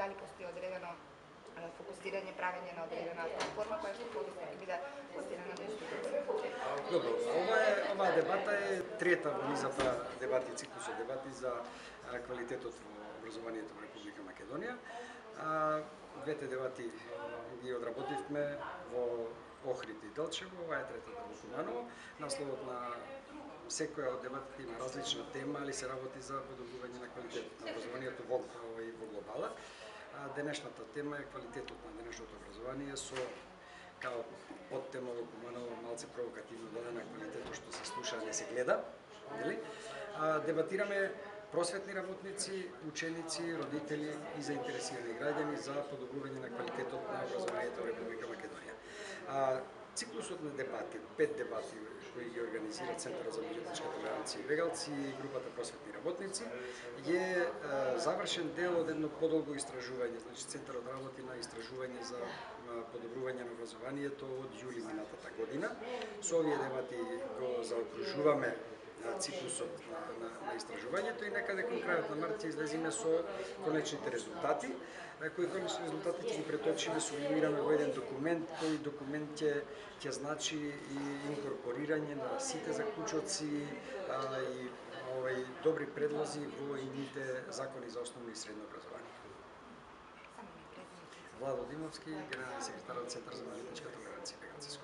дали постои одредено фокусирање, правење на одредена платформа која што ќе биде пласирана на институција. Добро, оваа дебата е трета во низата дебати, циклусот дебати за квалитетот во образованието во Република Македонија. Двете дебати ги одработивме во Охрид и Делчево, ова е третата во Куманово. Насловот на секоја од дебатите има различна тема, али се работи за подобрување на квалитетот на образованието во глобала. Денешната тема е квалитетот на денешното образование со као подтема во Куманово малце провокативно дадена квалитетот што се слуша, не се гледа, нели? Дебатираме просветни работници, ученици, родители и заинтересирани граѓани за подобрување на квалитетот на образованието во Република Македонија. Циклусот на дебати, 5 дебати кои ги организира Центарот за меѓуетничка толеранција и Вегалци и групата просветни работници, е завршен дел од едно подолго истражување. Значи Центарот работи на истражување за подобрување на образованието од јули минатата година. Со овие дебати го заокружуваме циклусот на истражувањето и некаде кон крајот на март ќе излезиме со конечните резултати, кои конечни резултати ќе ги преточиме, сублимираме во еден документ, кој документ ќе значи и инкорпорирање на сите заклучоци и добри предлози во идните закони за основно и средно образование. Владо Димовски, генерален секретар од Центар за меѓуетничка толеранција и Вегалци.